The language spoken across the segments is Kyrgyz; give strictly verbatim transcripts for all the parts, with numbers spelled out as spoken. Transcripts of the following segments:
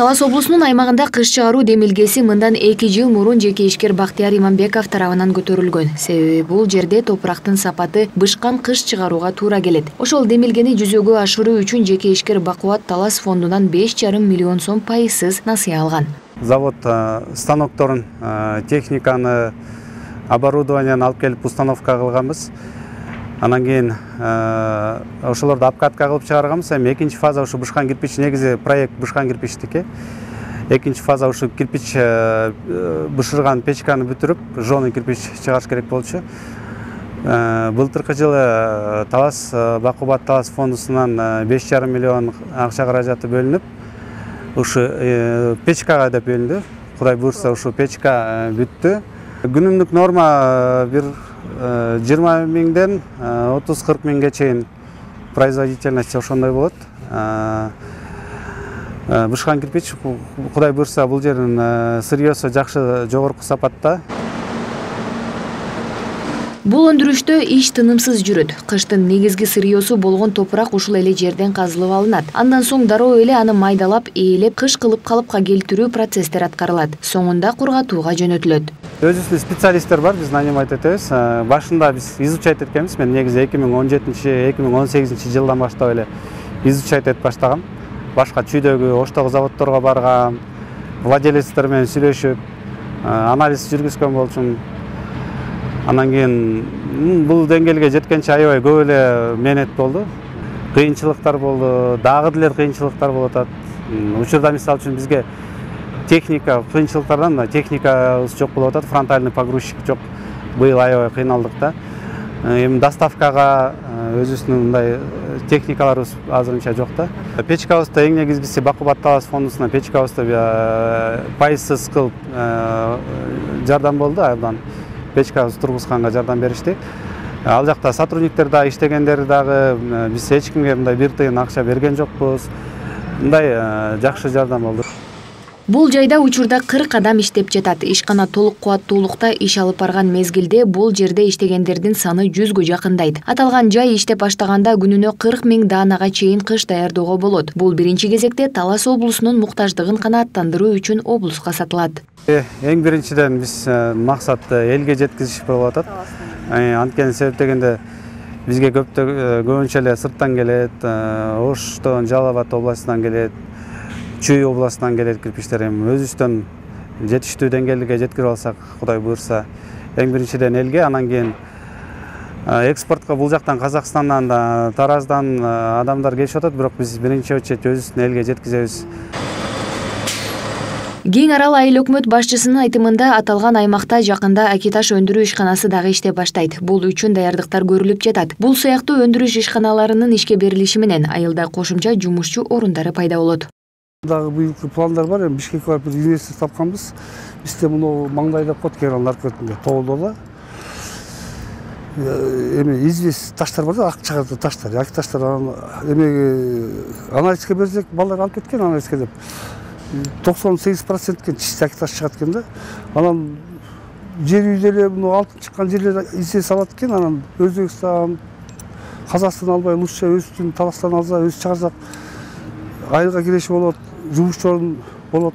Талас облусунун аймагында кыш чыгаруу демилгеси мындан эки жыл мурун жеке ишкер Бактияр Иманбеков тарабынан көтөрүлгөн. Себеби бул жерде топурактын сапаты бышкан кыш чыгарууга туура келет. Ошол демилгени жүзөгө ашыруу үчүн жеке ишкер Бакубат Талас фондунан беш жарым миллион сом пайызсыз насыя алган. Завод станокторун, техниканы, оборудованияны алып келип установка кылганбыз. Анан кийин ошолорду обкатка кылып чыгарганбыз. Эми экинчи фаза ушу бышкан кирпич, негизи проект бышкан кирпичтики. Экинчи фаза ушу кирпич бышырган печканы бүтүрүп, жжёный кирпич чыгарыш керек болчу. Былтыркы жылы Талас Бакубат Талас фондусунан беш жарым миллион акча каражаты бөлүнүп, ушу печкага деп бөлүндү. Кудай буйрса ушу печка бүттү. Күнүмдүк норма бир жыйырма миңден отуз кырк миңге чейин производительность ошондой болот. Бышкан кирпич, кудай буйрса, бул жердин сырьёсу жакшы, жогорку сапатта. Бул өндүрүштө иш тынымсыз жүрөт. Кыштын негизги сырьёсу болгон топурак ушул эле жерден казылып алынат. Андан соң дароо эле аны майдалап, ээлеп, кыш кылып калыпка келтирүү процесстер аткарылат. Соңунда кургатууга жөнөтүлөт. Өзүбүздүн специалисттер бар, биз нанимать этебиз. Башында биз изучать эткенбиз. Мен негизи эки миң он жетинчи эки миң он сегизинчи жылдан баштап эле изучать этип баштагам. Башка чүйдөгү оштогу заводдорго баргам, владелецтер менен сүйлөшүп, анализ жүргүзгөн болчумун. Анан кийин бул деңгээлге жеткенче аябай көп эле мээнет болду. Кыйынчылыктар болду, дагы деле кыйынчылыктар болуп атат. Учурда мисалы үчүн бизге техника кыйынчылыктардан техникабыз жок болуп атат, фронтальный погрузчик жок. Быйыл аябай кыйналдык да. Эми доставкага өзүбүздүн мындай техникаларыбыз азырынча жок да. Печкабызда эң негизгиси Бакубат Талас фондусунан печкабызда пайызсыз кылып жардам болду. Абдан печкабыз тургузганга жардам беришти. Ал жакта сотрудниктер дагы иштегендер дагы биз эч кимге мындай бир тыйын акча берген жокпуз. Мындай жакшы жардам болду. Бул жайда учурда кырк адам иштеп жатат. Ишкана толук кубаттуулукта иш алып барган мезгилде бул жерде иштегендердин саны жүзгө жакындайт. Аталган жай иштеп баштаганда күнүнө кырк миң даанага чейин кыш даярдоого болот. Бул биринчи кезекте Талас облусунун муктаждыгын канааттандыруу үчүн облуска сатылат. Эң биринчиден биз максат элге жеткизиш болуп атат. Анткени себеп дегенде бизге көбүнчө эле сырттан келет, Оштон, Жалал Абад областынан келет, Чүй областынан келет кирпичтер. Эми өзүбүздөн жетиштүү деңгээлге жеткирип алсак, кудай буйрса, эң биринчиден элге, анан кийин экспортко бул жактан Казакстандан, Тараздан адамдар келишип атат, бирок биз биринчи очередь өзүбүздүн элге жеткизебиз. Кең арал айыл өкмөт башчысынын айтымында аталган аймакта жакында акиташ өндүрүү ишканасы дагы иштеп баштайт. Бул үчүн даярдыктар көрүлүп жатат. Бул сыяктуу өндүрүш ишканаларынын ишке берилиши менен айылда кошумча жумушчу орундары пайда болот. Дагы быйылкы пландар бар. Эми Бишкекке барып бир инвестор тапканбыз. Бизде муну маңдайда кот кералын аркетинде тоолдо. Эми извест таштар бар да, ак чыгарды таштар, ак таштар эми анализге берсек, балдар алып кеткен анализге деп. токсон сегиз процентке чисти ак таш чыгат экен да. Анан жер үйдө эле муну алтын чыккан жерлер извест алат экен, анан Өзбекстан, Казакстан албай лучше өзүбүздүн Таластан алса, өзү чыгарсак айылга киреши болот, жумушчу орун болот.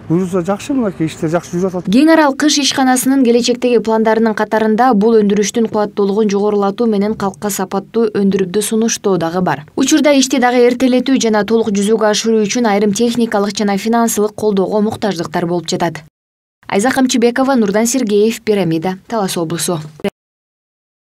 Буюрса жакшы, мынакей иштер жакшы жүрүп атат. Кең арал кыш ишканасынын келечектеги пландарынын катарында бул өндүрүштүн кубаттуулугун жогорулатуу менен калкка сапаттуу өндүрүпдү сунуштоо дагы бар. Учурда ишти дагы эртелетүү жана толук жүзөгө ашыруу үчүн айрым техникалык жана финансылык колдоого муктаждыктар болуп жатат. Айза Камчыбекова, Нурдан Сергеев, Пирамида, Талас облусу.